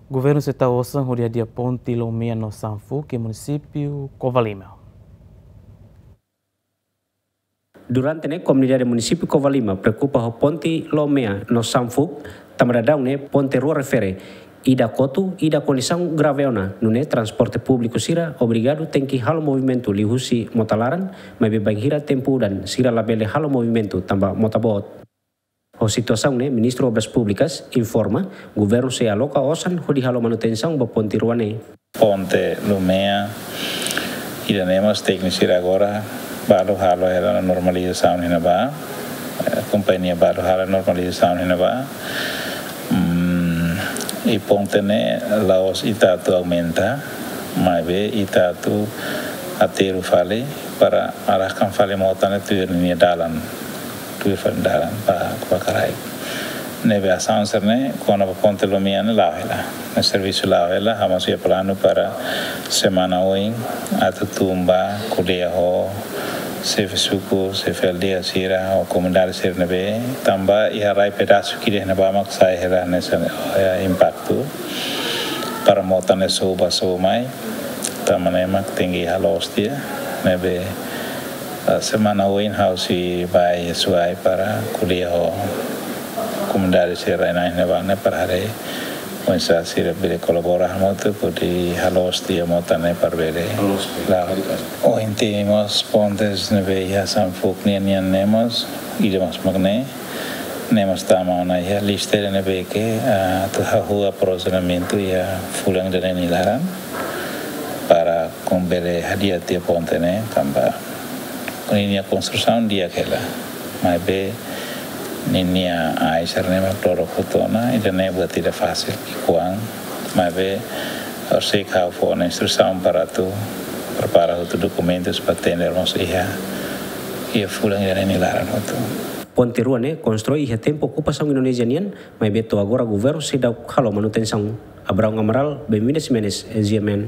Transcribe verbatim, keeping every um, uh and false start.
Governu sei tau osan hodi hadi'a ponte Lomea no Sanfuk iha munisípiu Covalima. Durante ne'e, komunidade munisípiu Covalima preokupa ho ponte Lomea no Sanfuk, tanba daudaun ne'e ponte rua refere, ida kotu, ida kondisaun grave ona, nune'e transporte públiku sira obrigadu tenke halo movimentu liuhusi mota laran, maibé bainhira tempu udan sira labele halo movimentu tanba mota boot. Ho situasaun ne'e, Ministru Obras Públikas informa, governu sei aloka osan hodi halo manutensaun ba ponte rua ne'e. Ponte Lomea, ida-ne'e mós tékniku sira agora balu halo hela ona normalizasaun iha ne'ebá, eh, kompañia balu halo normalizasaun iha ne'ebá. Hmm, i ponte ne'e la'ós ita atu aumenta, maibé ita atu aterru fali para arahkan fali mota ne'e tuir nia dalan, tuir fali dalan ba, ba Karaik. Ne'ebé asaun sira-ne'e kona-ba ponte Lomea ne'e la'o hela. Ne'e servisu la'o hela, ha'u mós iha planu para semana oin atu tun bá ko'alia ho xefe suku, xefe aldeia sira, ho komunidade sira ne'ebé, tanba iha rai pedasu ki'ik iha ne'ebá mak sai hela hanesan, eh, impaktu. Para mota ne'e so'u bá so'u mai, tanba ne'e mak tenke halo tiha, ne'ebé, eh, semana oin ha'u sei bá iha Suai para ko'alia ho komunidade sira iha ne'ebá ne'e para haree oinsá sira bele kolabora hamutuk hodi halo tiha mota ne'e para bele. Halo tiha. Klaru. Ohin temi mós pontes ne'ebé iha Sanfuk nian, nian ne'e mós, ida mós mak ne'e, ne'e mós tama ona iha lista ne'ebé ke, ah, atu hahú aprozionamentu iha fulan ida-ne'e nia laran para bele hadi'a tiha ponte ne'e, tanba ninia konstrusaun di'ak hela. Maibé ninia ai sira-ne'e mak dodok hotu ona, ida-ne'e buat ida fasil, ki'ikoan, maibé horiseik ha'u fó ona instrusaun para atu prepara hotu dokumentus para tender mós iha, iha fulan ida-ne'e nia laran hotu. Ponte rua ne'e konstrui iha tempu okupasaun Indonézia nian, maibé to'o agora governu seidauk halo manutensaun. Abraão Amaral, Benvinda Ximenes, G M N.